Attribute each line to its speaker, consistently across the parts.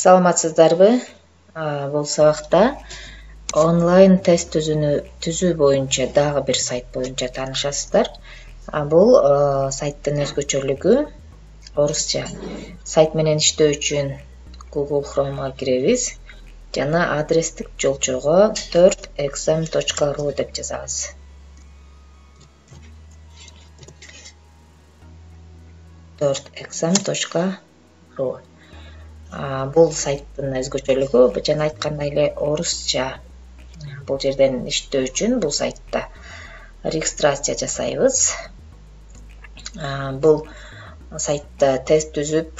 Speaker 1: Саламатсыздарбы? Бул сабакта онлайн тест түзүү боюнча дагы бир сайт боюнча таанышасыздар. Бул сайттын өзгөчөлүгү орусча. Сайт менен иштөө үчүн Google Chrome'га киребиз жана адрестик жолчого 4exam.ru деп жазабыз. .exam.ru. Бул сайттын өзгөчөлүгү жана айткандай эле орусча. Бул жерден иштөө үчүн бул сайтта регистрация жасайбыз. Бул сайтта тест түзүп,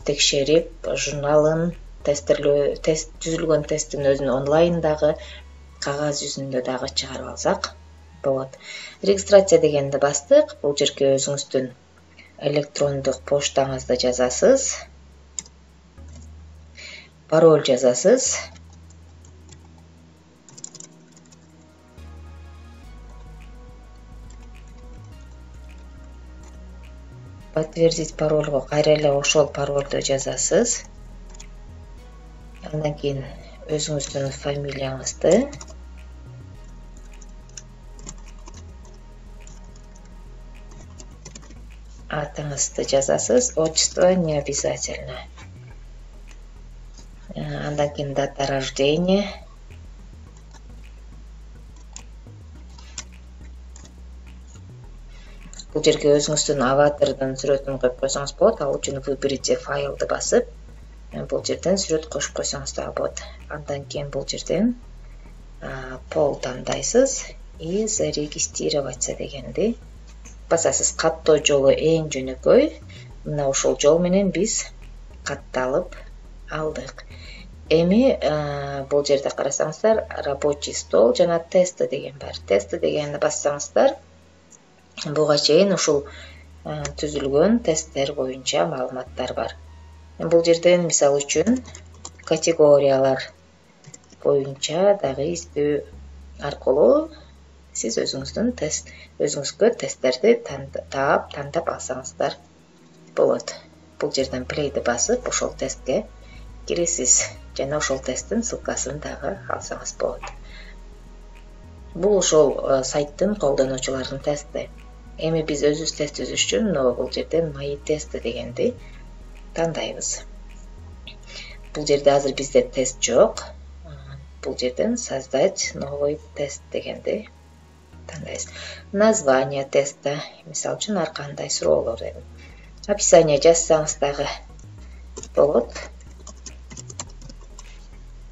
Speaker 1: текшерип, журналын, түзүлгөн тесттин өзүн онлайн дагы, кагаз жүзүндө дагы чыгарып алсак болот. Регистрация дегенди бастык. Бул жерге өзүңүздүн электрондук поштаңызды жазасыз. Пароль жазасыз. Подтвердить парольго кайра эле ошол парольду жазасыз. Андан кийин өзүңүздүн фамилияңызды, атыңызды жазасыз. Отчество не обязательно. Андан кийин дата рождения. Бул жерге өзүңүздүн аватардын сүрөтүн коюп койсоңуз болот. Ал үчүн выберите файлды басып, бул жерден сүрөт кошуп койсоңуз дагы болот. Андан кийин бул жерден пол тандайсыз и зарегистрироваться дегенди басасыз. Каттоо жолу эң жөнөкөй. Мына ошол жол менен биз катталып алдык. Эми бул жерде карасаңыздар, рабочий стол жана тесты деген бар. Тесты дегенди бассаңыздар, буга чейин ушул түзүлгөн тесттер боюнча маалыматтар бар. Бул жерден мисалы үчүн категориялар боюнча дагы издөө аркылуу сиз өзүңүзгө тесттерди тандап алсаңыздар болот. Бул жерден плейди басып, ошол тестке киресиз жана ошол тесттин ссылкасын дагы алсаңыз болот. Бул ошол сайттын колдонуучуларынын тести. Эми биз өзүбүз тест түзүш үчүн бул жерден мои тесты дегенди тандайбыз. Бул жерде азыр бизде тест жок. Бул жерден создать новый тест дегенди тандайбыз. Название теста, мисалы үчүн ар кандай суроолор дедим. Описание жазсаңыз дагы болот.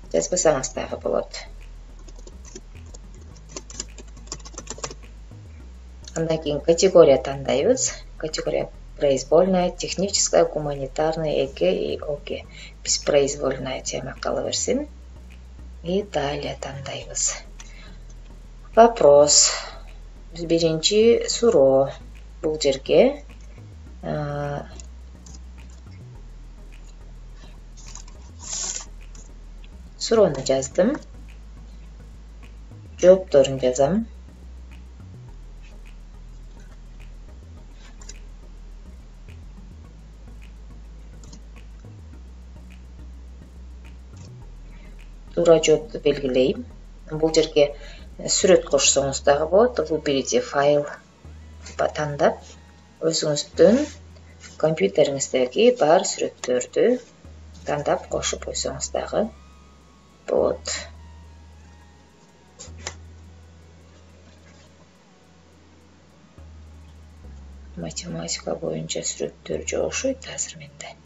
Speaker 1: Жазбасаңыз дагы болот. Андан кийин категория тандайбыз. Категория произвольная, техническая, гуманитарная, ЭГ и ОГ. Биз произвольная тема кала берсин. И далее тандайбыз. Вопрос. Биринчи суроо. Бул жерге суроону жаздым. Жоопторун жазам. Туура жоопту белгилейм. Бул жерге сүрөт кошсоңуз дагы болот. Выберите файл тандап, өзүңүздүн компьютериңиздеги бар сүрөттөрдү тандап кошуп койсоңуз дагы болот. Математика боюнча сүрөттөр жокшойт азыр менде.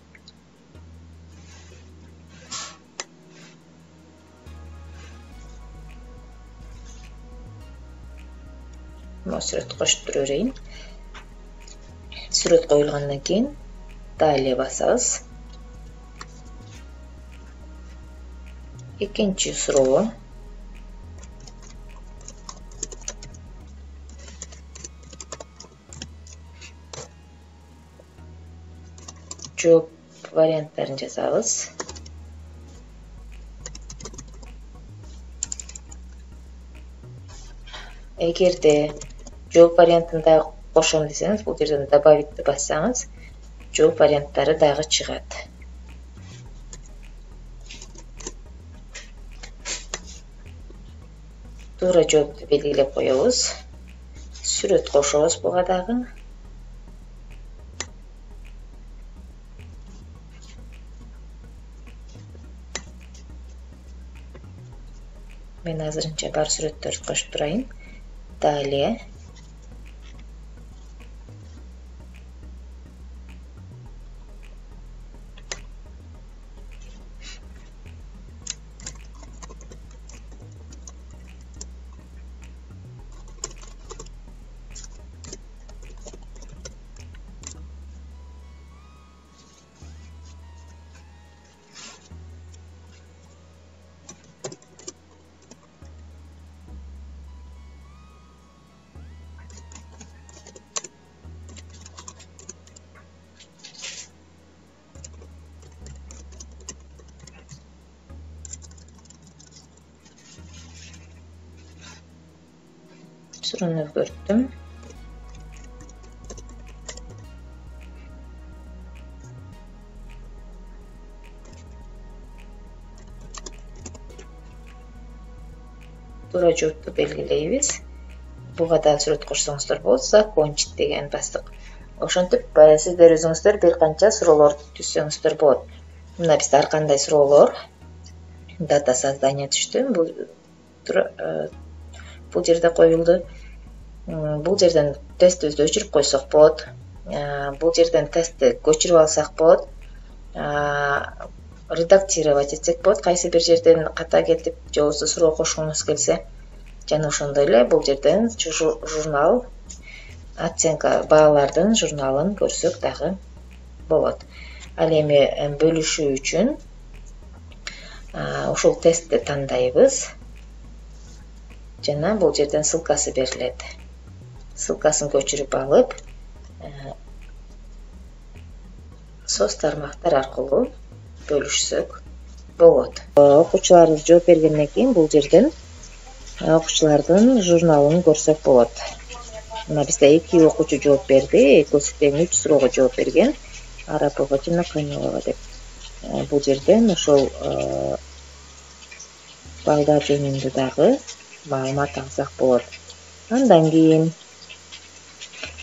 Speaker 1: Сүрөт кошуп тура берейин. Сүрөт коюлгандан кийин далее басабыз. Экинчи суроо. Жооп варианттарын жазабыз. Эгерде жооп вариантын дагы кошом десеңиз, бул жерден добавитти бассаңыз, жооп варианттары дагы чыгат. туура жоопту белгилеп коебуз. Сүрөт кошобуз буга дагы. Мен азырынча бар сүрөттөрдү кошуп турайын. Далее суроону өзгөрттүм. Туура жоопту белгилейбиз. Буга да сүрөт кошсоңуздар болот. Закончить деген бастык. Ошентип сиздер өзүңүздөр бир канча суроолор түзсөңүздөр болот. Мына бизде ар кандай суроолор дата создания түштү. Бул жерде коюлду. Бул жерден тестибизди өчүрүп койсок болот. Бул жерден тестти көчүрүп алсак болот. Редактировать этсек болот. Кайсы бир жерден ката келип, же болбосо суроо кошкуңуз келсе, жана ошондой эле бул жерден журнал оценка баалардын журналын көрсөк дагы болот. Ал эми бөлүшүү үчүн ушул тестти тандайбыз. Жана бул жерден ссылкасы берилет. Ссылкасын көчүрүп алып, соц тармактар аркылуу бөлүшсөк болот. Окуучуларыбыз жооп бергенден кийин бул жерден окуучулардын журналын көрсөк болот. Мына бизде 2 окуучу жооп берди. Экөөсү тең 3 суроого жооп берген. Арапова жана Камилова деп. Бул жерден ошол балдар жөнүндө дагы маалымат алсак болот. Андан кийин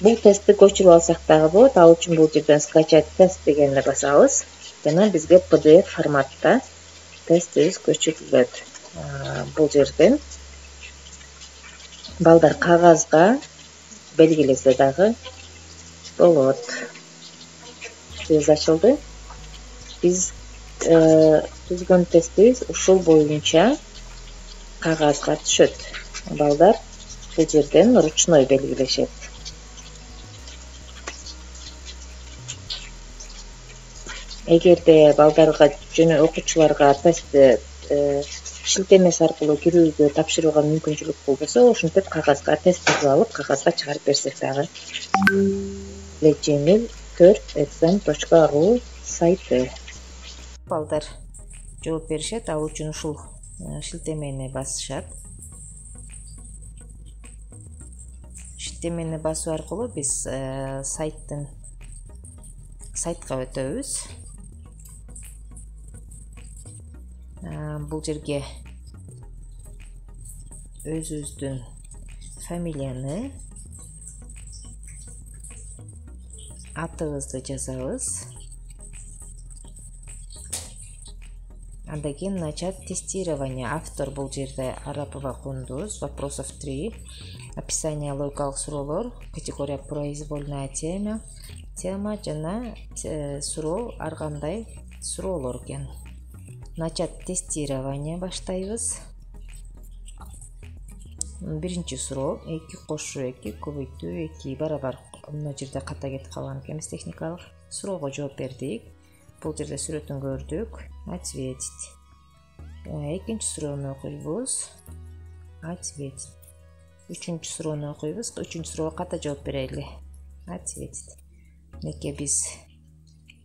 Speaker 1: бул тестти көчүрүп алсак дагы болот. Ал үчүн бул жерден скачать тест дегенди басабыз. Жана бизге PDF форматта тестибиз көчүрүлөт. Бул жерден балдар кагазга белгилесе дагы болот. Сөз ачылды. Биз түзгөн тестибиз ушул боюнча кагазга түшөт. Балдар бул жерден ручной белгилешет. Эгерде балдарга жана окуучуларга тестти шилтемеси аркылуу кирүүгө тапшырууга мүмкүнчүлүк болбосо, ошентип кагазга тест жазып алып, кагазга чыгарып берсек дагы жеңил. 4exam.ru сайты. Балдар жооп беришет, ал үчүн ушул шилтемени басышат. Шилтемени басуу аркылуу биз сайтка өтөбүз. Бул жерге өзүбүздүн фамилияны, атыбызды жазабыз. Андан кийин начать тестирование. Автор бул жерде Арапова Кундуз. Вопросов 3. Описание логикалык суроолор. Категория произвольная тема жана суроо ар кандай суроолор экен. Начать тестирование баштайбыз. Биринчи суроо 2 кошуу 2 көбөйтүү 2 барабар. Мына жерде ката кетип калган экенбиз техникалык. Суроого жооп бердик. Бул жерде сүрөтүн көрдүк. Ответить. Экинчи суроону окуйбуз. Ответить. Үчүнчү суроону окуйбуз. Үчүнчү суроого ката жооп берели. Ответить. Неке биз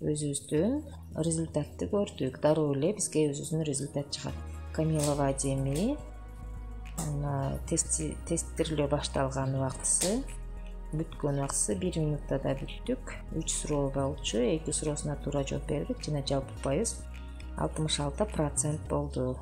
Speaker 1: өзүбүздүн результатты көрдүк. Дароо эле бизге өзүбүздүн результат чыгат. Камилова Адеми. Тестирлөө башталган убактысы, бүткөн убактысы 1 минутта да бүттүк. 3 суроо болчу, 2 суроосуна туура жооп бердик жана жалпы пайыз 66% болду.